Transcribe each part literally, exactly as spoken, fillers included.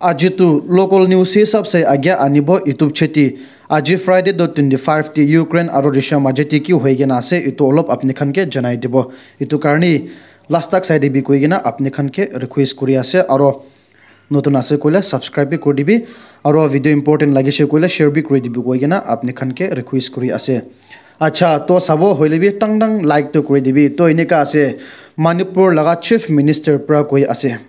Aji tu local news hisab se age anibo YouTube cheti. Aji Friday do twenty five ti Ukraine aro Russia maje ti ki hoi kena ase, itu olop apni khan ke janai dibo. Itu karni last tak sai dibi koi kena apni khan ke request kuri ase, aro notun ase koile subscribe bi kuri dibi, aro video important lagise koile share bi kuri dibi koi kena apni khan ke request kuri ase. Acha, to sabo hoile bi tang tang like to kuri dibi. To enika ase, Manipur laga Chief Minister pra koi ase.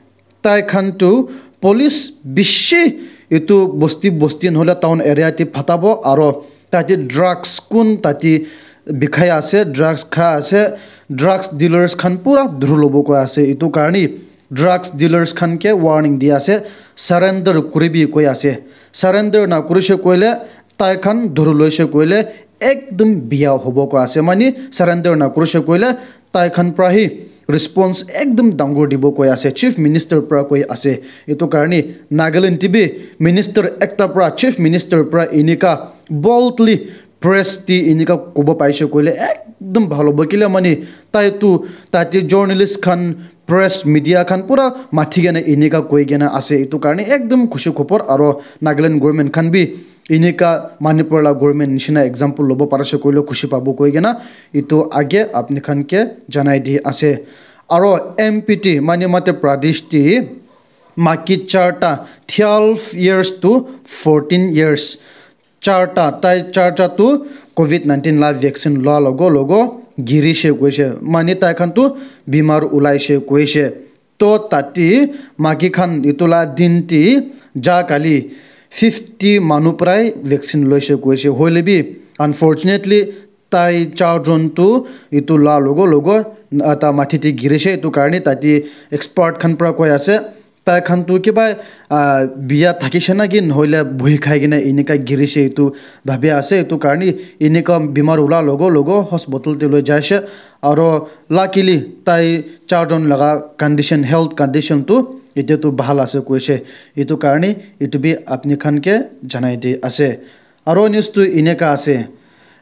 Tai khan tu police bishi itu bosti bosti nohole town area te phatabo, aro tate drugs kun tate bikhai ase, drugs kha ase, drugs dealers khan pura dhuru lobo koi ase. Itu karni drugs dealers khan ke warning di ase, surrender kuribi koi ase. Surrender na kurise koile tai khan dhuru loise koile ekdum biya hobo koi ase. Mani surrender na kurise koile tai khan pra hi response ekdum dangor dibo koi ase, Chief Minister pra koi ase. Itu karni Nagaland ti bi minister ekta pra, Chief Minister pra enika boldly press ti enika kobo paise koile ekdum bhal hobo. Kile mani tai tu tate journalist khan, press, media khan pura mathi kena enika koi kena ase. Itu karni ekdum khushi khopor, aro Nagaland government khan bi enika Manipur la government nishina example lobo parise koile khushi pabo koi kena itu age apni khan ke janai di ase. Aro M P ti, mani Madhya Pradesh ti maki charta, twelve years to fourteen years, charta, tai charta tu covid nineteen la vaccine lua logo logo girise koise. Mani tai khan tu bimar ulaise koise. To tati maki khan itu la din ti ja kali fifty manu prai vaccine loise koise. Hoile bi unfortunately tai charjon tu itu la logo logo, ah, ta mathi te girise. Itu karni tati expert khan pra koi ase, tai khan tu kiba, ah, biya thakise na ki nohoile buhi khai kena enika girise itu bhabi ase. Itu karni enika bimar ula logo logo hospital te loi jaise. Aro luckily tai charjon laga condition, health condition tu etia tu bhal ase koise. Itu karni itu bi apni khan ke janai di ase. Aro news tu eneka ase.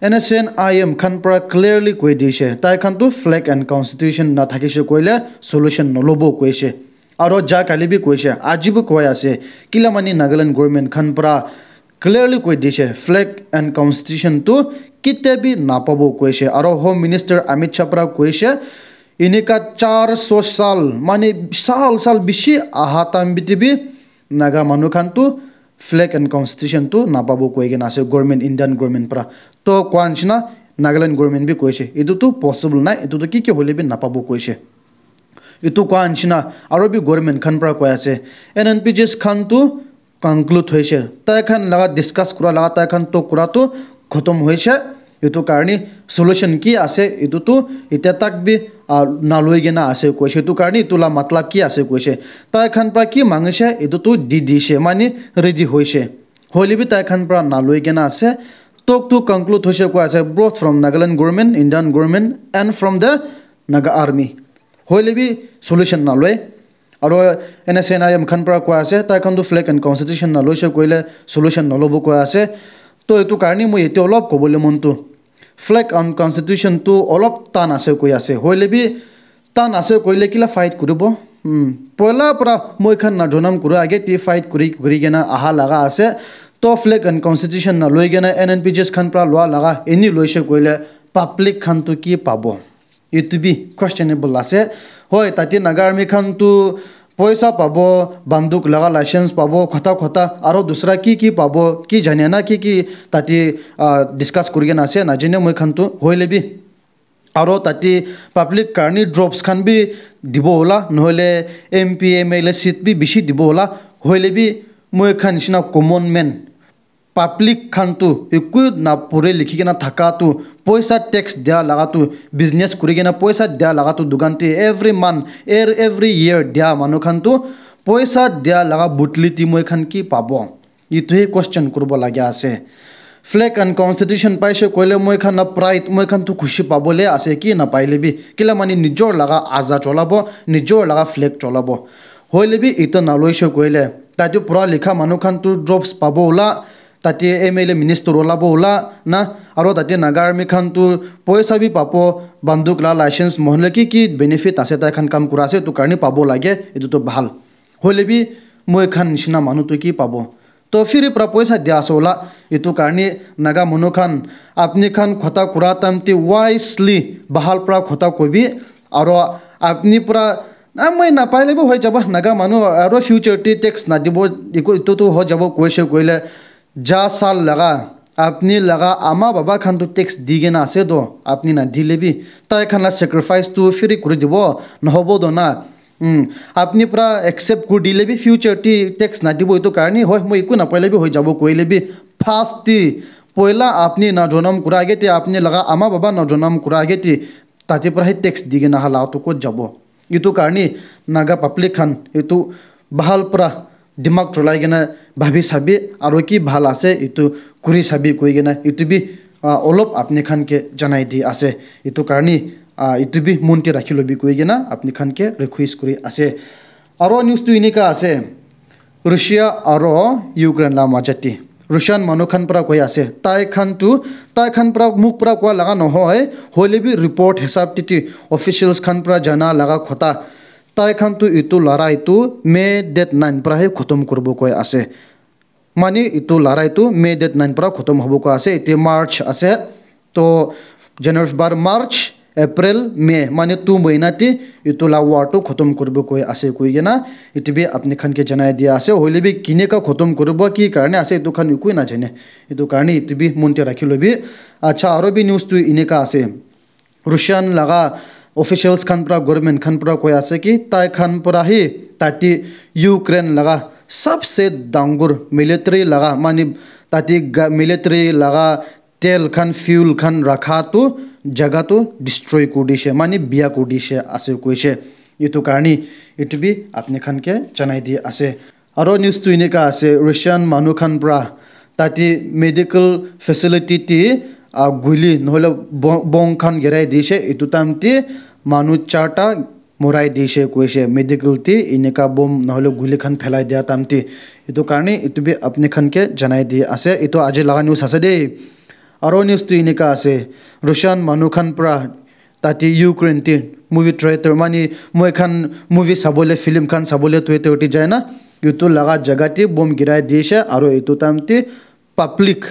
N S C N I M khan pra clearly koi dise, tai khan tu flag and constitution na thakise koile solution nolobo koise. Aro ja kali bi koise, aji bi koi ase. Kila mani Nagaland government khan pra clearly koi dise, flag and constitution tu kitia bi napabo koise. Aro Home Minister Amit Shah pra koise, enika char so sal, mane sal sal bishi aha time biti bi Naga manu khan tu flag and constitution tu napabo koi kena ase government, Indian government pra. To koa nishina Nagaland government bi koise, etu tu possible nai, etu tu ki ki hoile bi napabo koise. Etu koa nishina aro bi government khan pra koi ase, N N P Gs khan tu conclude hoise, tai khan laga discuss kura laga, tai khan talk kura tu khotom hoise. Etu karni solution ki ase, etu tu etia tak bi, ah, naloi kena ase koise. Etu karni etu la matlab ki ase koise, tai khan pra ki mangise, etu tu di dise, mane ready hoise. Hoile bi tai khan pra naloi kena ase. Talk tu conclude hoise koi ase, both from Nagaland government, Indian government and from the Naga army. Hoile bi solution naloi. Aro N S C N I M khan pra koi ase, tai khan tu flag and constitution naloise koile solution nolobo koi ase. To etu karni moi etia olop kobole mon tu, flag and constitution tu olop tan ase koi ase. Hoile bi tan ase koile kila fight kuribo? Hmm. Poila pra moi khan na jonam kura age ti fight kuri kuri kena aha laga ase. To flag and constitution naloi kena N N P Gs khan pra lua laga eni loise koile public khan tu ki pabo? Etu bi questionable ase. Hoi, tate Naga army khan tu poisa pabo, banduk laga license pabo, khota khota, aro dusra ki ki pabo, ki jane na ki ki tate, ah, discuss kuri kena ase, najane moi khan tu. Hoile bi, aro tate public karni drops khan bi dibo hola, nohole M P, M L A seat bi bishi dibo hola. Hoile bi moi khan nishina common man, public khan tu eku na pure likhi kena thaka tu, poisa tax dia laga tu, business kuri kena poisa dia laga tu, dukan te every month, er-, every year dia manu khan tu poisa dia laga budli ti moi khan ki pabo? Etu he question kuribo laga ase. Flag and constitution paise koile moi khan na pride, moi khan tu khushi pabole ase ki na paile bi. Kila mani nijor laga aza cholabo, nijor laga flag cholabo. Hoile bi etu naloise koile, tate pura likha manu khan tu drops pabo ola, tate M L A minister olabo ola na, aro tate Naga army khan tu poisa bi pabo, banduk la license, mohon la ki ki benefit ase, tai khan kam kura ase, etu karni pabo lage, etu tu bhal. Hoile bi Moi khan nishina manu tu ki pabo? To firi pra poisa dia ase ola. Itu karni Naga manu khan apni khan khota kura time te wisely bahal pra khota kobi. Aro apni pra, ah, moi napaile bi hoi jabo. Naga manu aro future te tax nadibo, iku itu tu hoi jabo koise koile ja sal laga apni laga ama baba khan tu tax di kena ase to, apni nadile bi tai khan la sacrifice tu firi kuri dibo, nohobo to na. Hmm. Apni pra accept kuri dile bi future te tax nadibo itu karni hoi, moi iku napaile bi hoi jabo koile bi past te poila apni na jonam kura age te apni laga ama baba na jonam kura age te tate pra hi tax di kena hala to kot jabo? Itu karni Naga public khan itu bahal pra dimag cholai kena bhabi sabi aro ki bhal ase itu kuri sabi koi kena itu bi, ah, olop apni khan ke janai di ase. Itu karni, ah, itu bi mon te rakhi lobi koi kena apni khan ke request kuri ase. Aro news tu enika ase. Russia aro Ukraine la majati. Russian manu khan pra koi ase. Tai khan tu, tai khan pra muk pra koa laga nohoi. Hoile bi report hisab te tu officials khan pra jana laga khota. Tai khan tu itu larai tu May date nine pra he khotom kuribo koi ase. Mane itu larai tu May date nine pra khotom hobo koi ase. Ete March ase. To January, February, March, April, May, mane two mahina te itu la war tu khotom kuribo koi ase koi kena itu bi apni khan ke janai dia ase. Hoile bi kineka khotom kuribo, ki karne ase, itu khan ekoi najane. Itu karne itu bi mon te rakhi lobi. Acha, aro bi news tu eneka ase. Russian laga officials khan pra, government khan pra koi ase ki tai khan pra hi tate Ukraine laga sabse dangor military laga, mane tate ga-, military laga tel khan, fuel khan rakha tu jaga tu destroy kuri dishe, mane biya kuri dishe ase koishe. Itu karni itu bi apni khan ke janai di ase. Aro news tu eneka ase, Russian manu khan pra tate medical facility te, ah, guli nohole bo-, bomb khan girai dishe. Itu time te manu charta morai dishe koishe, medical te eneka bomb nohole guli khan phelai dia time te. Itu karni itu bi apni khan ke janai di ase. Itu aji laga news ase de. Aro news tu eneka ase, Russian manu khan pra tate Ukraine te movie theater, mane moi khan movie sabole, film khan sabole theater te jai na, itu laga jaga te bomb girai dishe aro itu time te public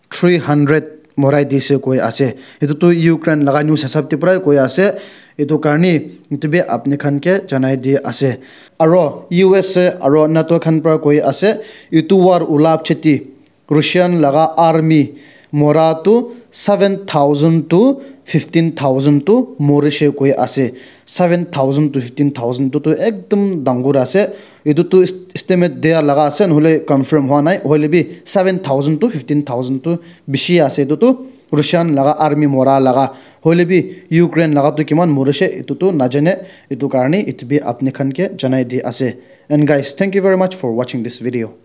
three hundred morai dishe koi ase. Itu tu Ukraine laga news hisab te pra koi ase. Itu karni itu bi apni khan ke janai di ase. Aro U S A aro NATO khan pra koi ase, itu war ula pichete Russian laga army mora tu seven thousand to fifteen thousand tu morishe koi ase. Seven thousand to fifteen thousand tu, tu ekdom dangor ase. Itu tu est-, estimate dia laga ase, nohole confirm hua nai. Hoile bi seven thousand to fifteen thousand tu bishi ase. Itu tu Russian laga army mora laga. Hoile bi Ukraine laga tu kiman morishe, itu tu najane. Itu karni itu bi apni khan ke janai di ase. And guys, thank you very much for watching this video.